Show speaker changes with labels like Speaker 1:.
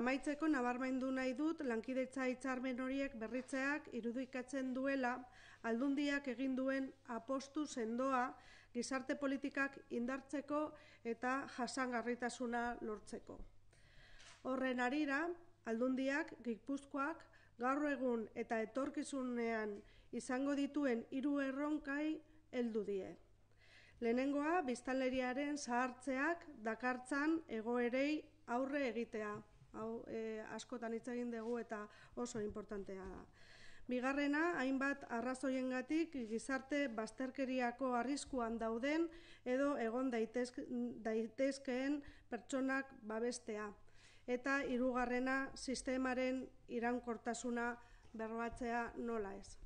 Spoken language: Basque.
Speaker 1: Amaitzeko nabarmendu nahi dut lankidetza hitzarmen horiek berritzeak irudikatzen duela Aldundiak egin duen apostu sendoa gizarte politikak indartzeko eta jasangarritasuna lortzeko. Horren harira, Aldundiak Gipuzkoak gaur egun eta etorkizunean izango dituen 3 erronkai heldu die. Lehenengoa, biztanleriaren zahartzeak dakartzan egoerei aurre egitea. Hau askotan hitz egin dugu eta oso inportantea da. Bigarrena, hainbat arrazoiengatik gizarte bazterkeriako arriskuan dauden edo egon daitezkeen pertsonak babestea. Eta hirugarrena, sistemaren iraunkortasuna bermatzea nola ez.